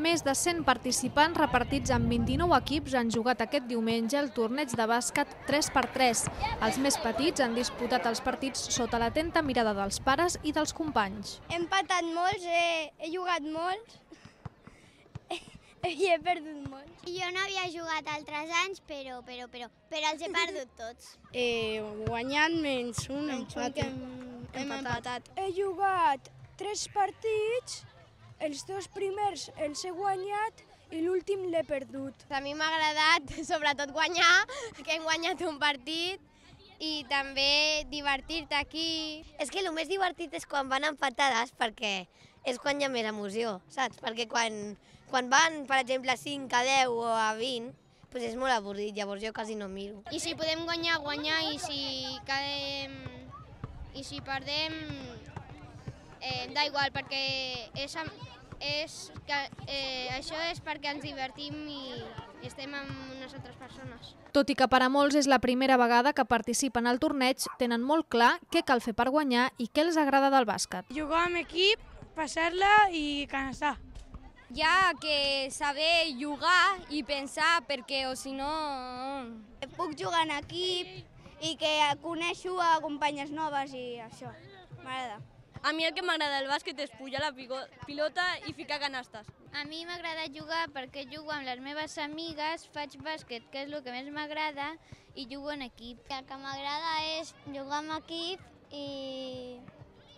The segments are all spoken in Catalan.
Més de 100 participants repartits en 29 equips han jugat aquest diumenge el torneig de bàsquet 3x3. Els més petits han disputat els partits sota l'atenta mirada dels pares i dels companys. He empatat molts, he jugat molts i he perdut molts. Jo no havia jugat altres anys, però els he perdut tots. He guanyat menys un empat. Hem empatat. He jugat 3 partits, els 2 primers els he guanyat i l'últim l'he perdut. A mi m'ha agradat sobretot guanyar, que hem guanyat un partit, i també divertir-te aquí. És que el més divertit és quan van empatades, perquè és quan hi ha més emoció, saps? Perquè quan van, per exemple, 5 a 10 o a 20, doncs és molt avorrit, llavors jo quasi no miro. I si podem guanyar, guanyar, i si perdem, da igual, perquè això és perquè ens divertim i estem amb unes altres persones. Tot i que per a molts és la primera vegada que participen al torneig, tenen molt clar què cal fer per guanyar i què els agrada del bàsquet. Jugar amb equip, passar-la i cansar. Hi ha que saber jugar i pensar, perquè o si no... Puc jugar en equip i que coneixo a companyes noves i això, m'agrada. A mi el que m'agrada del bàsquet és pujar la pilota i ficar canastes. A mi m'agrada jugar perquè jugo amb les meves amigues, faig bàsquet, que és el que més m'agrada, i jugo en equip. El que m'agrada és jugar amb equip i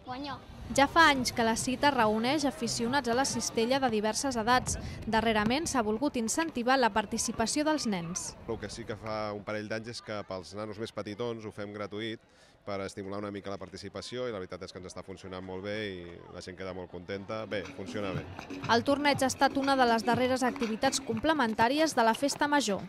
guanyar. Ja fa anys que la cita reuneix aficionats a la cistella de diverses edats. Darrerament s'ha volgut incentivar la participació dels nens. El que sí que fa un parell d'anys és que pels nanos més petitons ho fem gratuït per estimular una mica la participació i la veritat és que ens està funcionant molt bé i la gent queda molt contenta. Bé, funciona bé. El torneig ha estat una de les darreres activitats complementàries de la Festa Major.